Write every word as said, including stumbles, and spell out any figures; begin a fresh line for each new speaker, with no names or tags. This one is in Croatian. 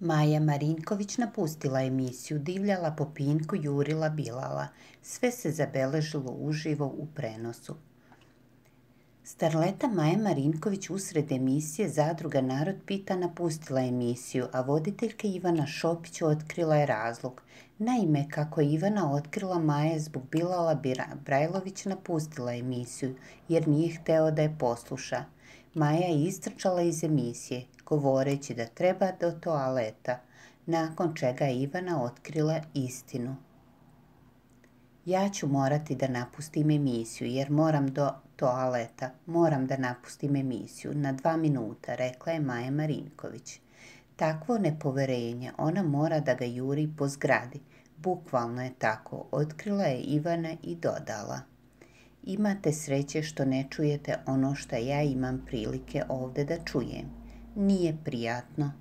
Maja Marinković napustila emisiju, divljala po Pinku, jurila Bilala. Sve se zabeležilo uživo u prenosu. Starleta Maja Marinković usred emisije Zadruga Narod pita napustila emisiju, a voditeljka Ivana Šopić otkrila je razlog. Naime, kako je Ivana otkrila, Maja je zbog Bilala Brajlović napustila emisiju, jer nije hteo da je posluša. Maja je istrčala iz emisije, govoreći da treba do toaleta, nakon čega je Ivana otkrila istinu. Ja ću morati da napustim emisiju, jer moram do toaleta, moram da napustim emisiju na dva minuta, rekla je Maja Marinković. Takvo nepoverenje, ona mora da ga juri po zgradi. Bukvalno je tako, otkrila je Ivana i dodala. Imate sreće što ne čujete ono što ja imam prilike ovde da čujem. Nije prijatno.